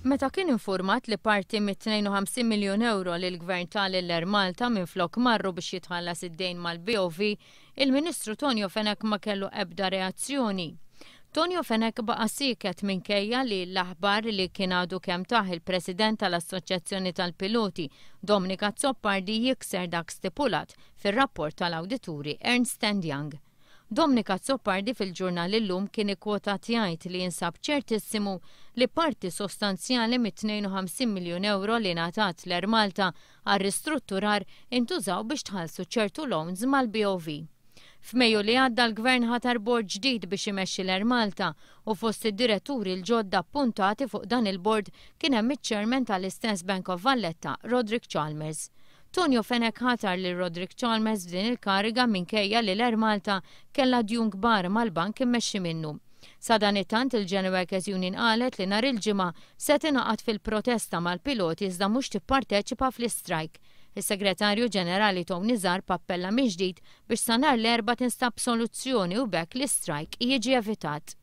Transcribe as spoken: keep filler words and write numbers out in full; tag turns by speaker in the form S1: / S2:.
S1: Meta kien infurmat li parti mit-tnejn u ħamsin miljun euro li l-Gvern ta lil Air Malta minflok marru biex jitħallas id-dejn mal-B O V, il-Ministru Tonio Fenech ma kellu ebda reazzjoni. Tonio Fenech baqa' sieket minkejja li l-aħbar li kien għadu kemm tah il-President tal-Assoċjazzjoni tal-Piloti, Dominic Azzopardi, jikser dak stipulat fir-rapport tal-awdituri Ernst and Young. Dominic Azzopardi fil-ġurnal Illum kien ikkwotat jgħid li jinsab ċertissimu li parti sostanzjali mit-tnejn u ħamsin miljun euro li ngħatat l-Air Malta għar-ristrutturar intużaw biex tħallsu ċertu loans mal-B O V. F'Mejju li għadda l-Gvern ħatar bord ġdid biex imexxi l-Air Malta u fost id-diretturi l-ġodda appuntati fuq dan il-bord kien hemm iċ-chairman tal-istess Bank of Valletta, Roderick Chalmers. Tonio Fenech ħatar lil Roderick Chalmers f'din il-kariga minkejja li l-Air Malta kellha djun kbar mal-bank immexxi minnu. Sadanittant il-General Workers Union qalet li nhar il-Ġimgħa se tingħaqad fil-protesta mal-piloti iżda mhux tipparteċipa fl-istrajk. Is-Segretarju Ġenerali Tony Zarb appella mill-ġdid biex sa nhar l-Erbgħa tinstab soluzzjoni u b'hekk l-istrajk jiġi evitat.